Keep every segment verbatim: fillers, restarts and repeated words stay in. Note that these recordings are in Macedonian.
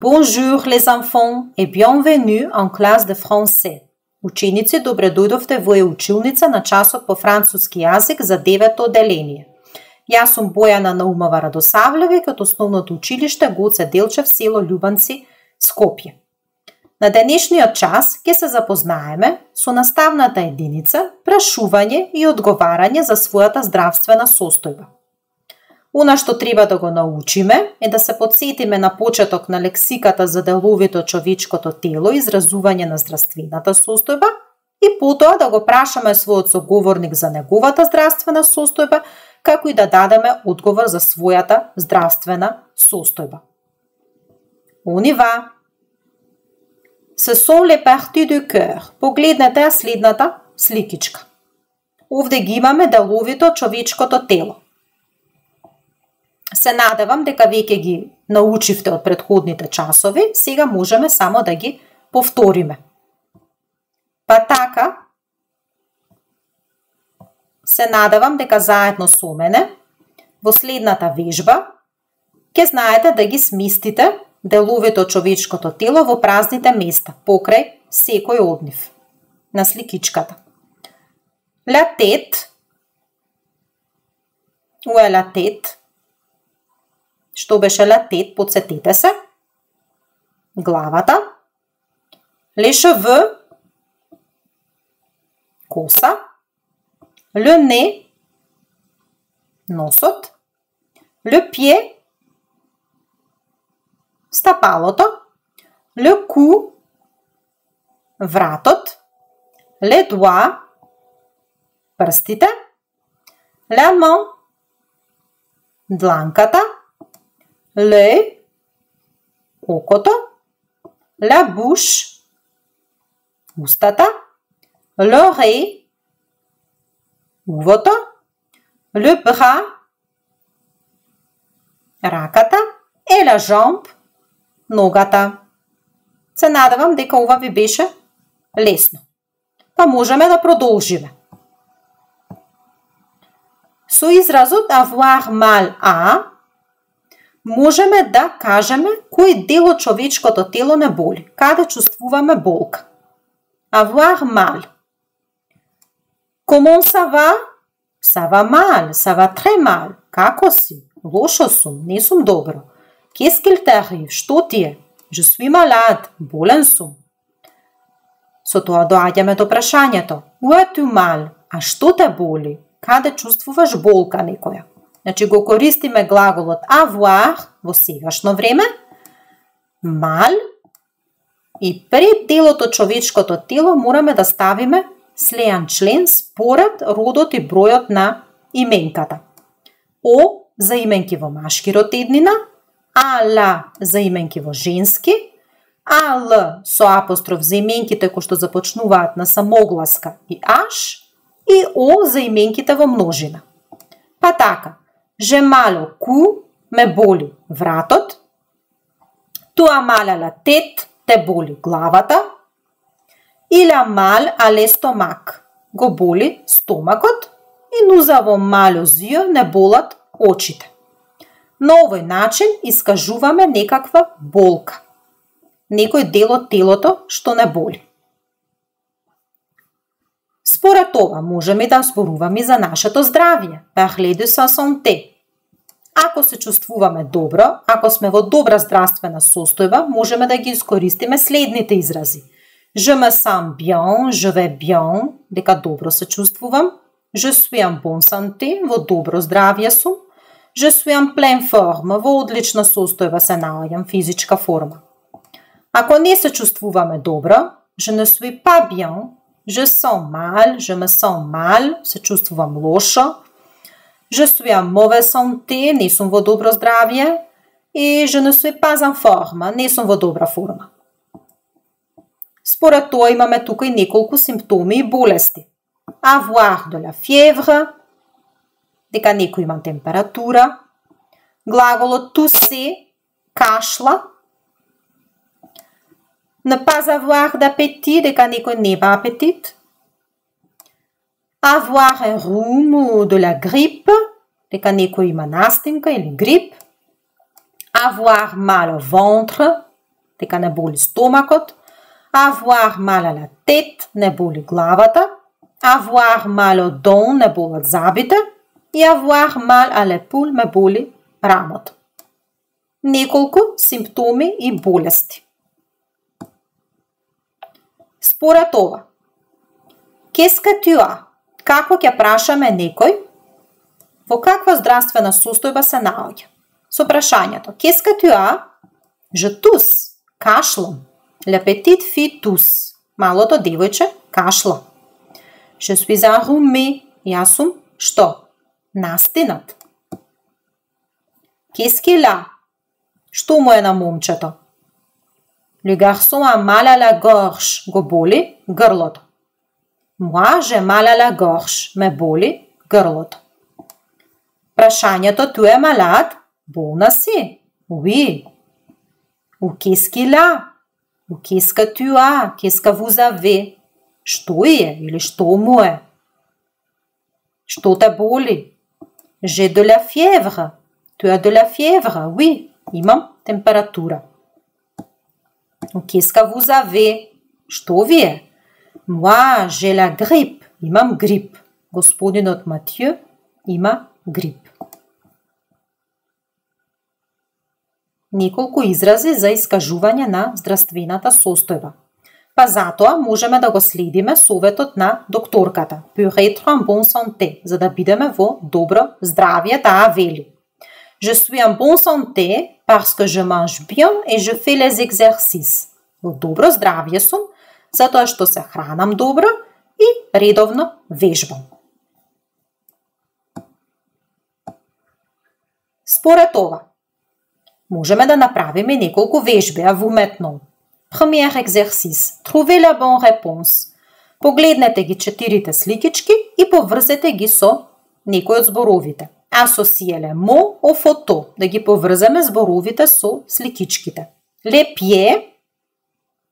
Bonjour les enfants et bienvenue en classe de français. Ученици, добре дојдовте во училница на часот по француски јазик за девето одделение. Јас сум Бојана Наумова Радосавлева од основното училиште Гоце Делчев, село Љубанци, Скопје. На денешниот час ќе се запознаеме со наставната единица прашување и одговарање за својата здравствена состојба. Она што треба да го научиме е да се подсетиме на почеток на лексиката за деловите од човечкото тело и изразување на здравствената состојба и потоа да го прашаме својот соговорник за неговата здравствена состојба, како и да дадеме одговор за својата здравствена состојба. On y va. Ce sont les parties du cœur. Погледнете ја следната сликичка. Овде ги имаме деловите од човечкото тело. Се надевам дека веќе ги научивте од претходните часови, сега можеме само да ги повториме. Па така, се надевам дека заедно со мене во следната вежба ќе знаете да ги сместите деловите од човечкото тело во празните места, покрај секој од нив. На сликичката. La tête. Où est la tête? Што беше la tête? Подсетете се. Главата. Les cheveux. Коса. Le nez. Носот. Le pied. Стапалото. Le cou. Вратот. Les doigts. Прстите. La main. Дланката. L'œil, окото, la bouche, устата, l'oreille, увото, le bras, раката, et la jambe, ногата. Се надевам дека ова ви беше лесно. Па можеме да продолжиме. Со изразот avoir mal à можеме да кажеме кој дел од човечкото тело не боли, каде чувствуваме болка. Avoir mal. Comment ça va? Ça va mal, ça va très mal. Како си? Лошо сум, не сум добро. Qu'est-ce qu'il t'arrive? Што ти е? Je suis malade, болен сум. Со тоа доаѓаме до прашањето. Où as-tu mal? А што те боли? Каде чувствуваш болка некоја? Значи го користиме глаголот avoir во сегашно време, mal, и пред делот од човечкото тело мораме да ставиме слеан член според родот и бројот на именката. О за именки во машки род еднина, а ла за именки во женски, а л со апостроф за именките кои што започнуваат на самогласка и аш, и о за именките во множина. Па така, j'ai mal au cou, ме боли вратот. Tu as mal à la tête, те боли главата. Il a mal à l'estomac, го боли стомакот. И nous avons mal aux yeux, не болат очите. На овој начин искажуваме некаква болка. Некој дел од телото што не боли. Според това можеме да зборуваме за нашето здравје. Parler de sa santé. Ако се чувствуваме добро, ако сме во добра здравствена состојба, можеме да ги искористиме следните изрази. Je me sens bien, je vais bien, дека добро се чувствувам. Je suis en bonne santé, во добро здравје сум. Je suis en pleine forme, во одлична состојба се наоѓам, физичка форма. Ако не се чувствуваме добро, je ne suis pas bien, je sens mal, je me sens mal, се чувствувам лошо. Je suis en mauvaise santé, не сум во добро здравје. И je ne suis pas en forme, не сум во добра форма. Според тоа имаме тука и неколку симптоми и болести. Avoir de la fièvre, дека некој има температура. Глаголот tousser, кашла. Ne pas avoir d'appétit, дека некој нема апетит. Avoir un rhume ou de la grippe, дека некој има настинка или грип. Avoir mal au ventre, дека не боли стомакот. Avoir mal à la tête, не боли главата. Avoir mal au dos, не болат забите. И avoir mal à l'épaule, ме боли рамото. Неколку симптоми и болести. Според ова, qu'est-ce que tu as? Како ќе прашаме некој во каква здравствена состојба се наоѓа? Со прашањето qu'est-ce que tu as? Je tousse, кашлам. La petite fille tousse. Малото девојче кашла. Je suis enrhumé. Јас сум што? Настинат. Qu'est-ce qu'il a? Што му е на момчето? Le garçon a mal à la gorge. Го боли грлото. Moi, j'ai mal à la gorge. Ме боли грлото. Прашањето tu es malade? Болна си? Oui. Ou qu'est-ce qu'il a? Ou qu'est-ce que tu as? Qu'est-ce que vous avez? Што е или што му е? Што те боли? J'ai de la fièvre. Tu as de la fièvre? Oui. Имам температура. Ou qu'est-ce que vous avez? Што ви е? Moi, j'ai la grippe. Имам грип. Господинот Матју има грип. Неколку изрази за искажување на здравствената состојба. Па затоа можеме да го следиме советот на докторката. Pour être en bonne santé, за да бидеме во добро здравје, таа вели. Je suis en bonne santé parce que je mange bien et je fais les exercices. Во добро здравје сум затоа што се хранам добро и редовно вежбам. Според ова, можеме да направиме неколку вежби, а вуметно. Premier exercice. Trouvez la bonne réponse. Погледнете ги четирите сликички и поврзете ги со некој од зборовите. Associez les mots aux photos. Да ги поврземе зборовите со сликичките. Les pieds.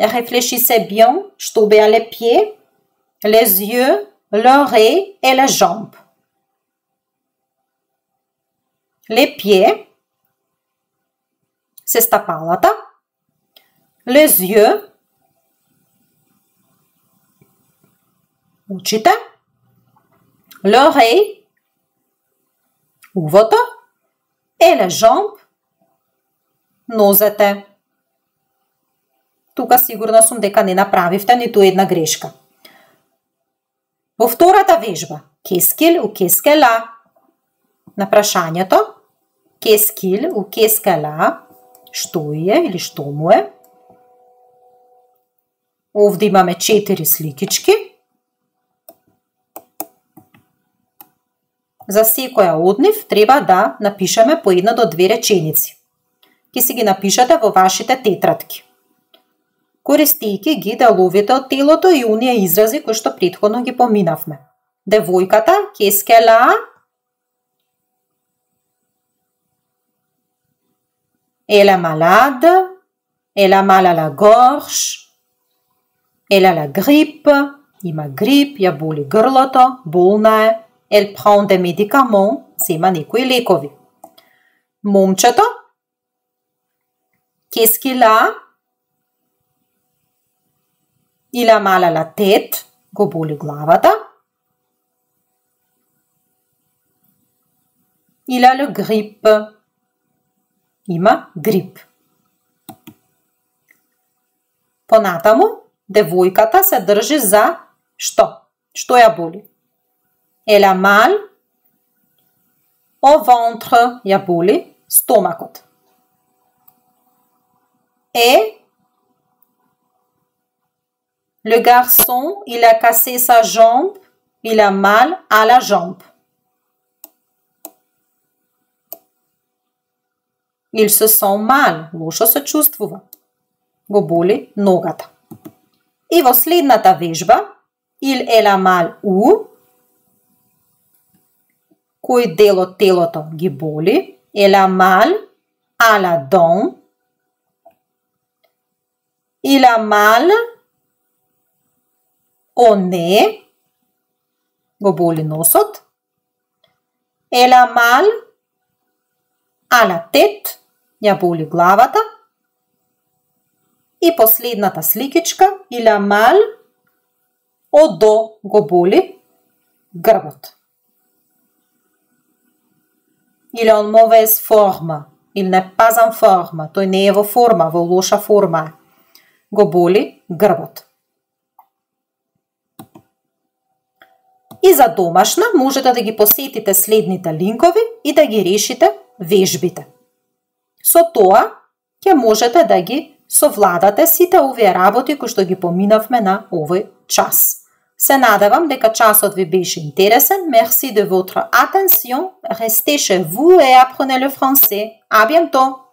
Réfléchissez bien. Што беа les pieds? Les yeux, l'oreille et les jambes. Les pieds. Се стапалата. Les yeux. Очите. L'oreille. Увото. Et les jambes. Нозете. Тука сигурна сум дека не направивте ниту една грешка. Во втората вежба, qu'est-ce qu'il ou qu'est-ce qu'elle a? На прашањето, qu'est-ce qu'il ou qu'est-ce qu'elle a? Што е или што му е? Овде имаме четири сликички. За секоја од нив треба да напишеме по една до две реченици. Ке си ги напишете во вашите тетрадки, користејќи ги деловите од телото и оние изрази кои што претходно ги поминавме. Девојката, qu'est-ce qu'elle a? Elle est malade, elle a mal à la gorge, elle a la grippe, има грип, ја боли грлото, болна е, elle prend des médicaments, зема некои лекови. Момчето, qu'est-ce qu'il a? Il a mal à la tête, го боли главата. Il a le grippe, има грип. Понатаму, девојката се држи за што? Што ја боли? Elle a mal au ventre, ја боли стомакот. Et le garçon, il a cassé sa jambe, il a mal à la jambe. Il se sent mal, лошо се чувствува. Го боли ногата. И во следната вежба, il elle a mal où? Кој дел од телото ги боли? Elle a mal à la dent. Il a mal au nez. Го боли носот. Elle a mal à la tête. Ја боли главата. И последната сликичка, il a mal au dos, го боли грбот. Il est en mauvaise forme, il n'est pas en forme, тој не е во форма, во лоша форма. Го боли грбот. И за домашна можете да ги посетите следните линкови и да ги решите вежбите. Со тоа ќе можете да ги совладате сите овие работи кои што ги поминавме на овој час. Се надевам дека часот ви беше интересен. Merci de votre attention. Restez chez vous et apprenez le français. À bientôt.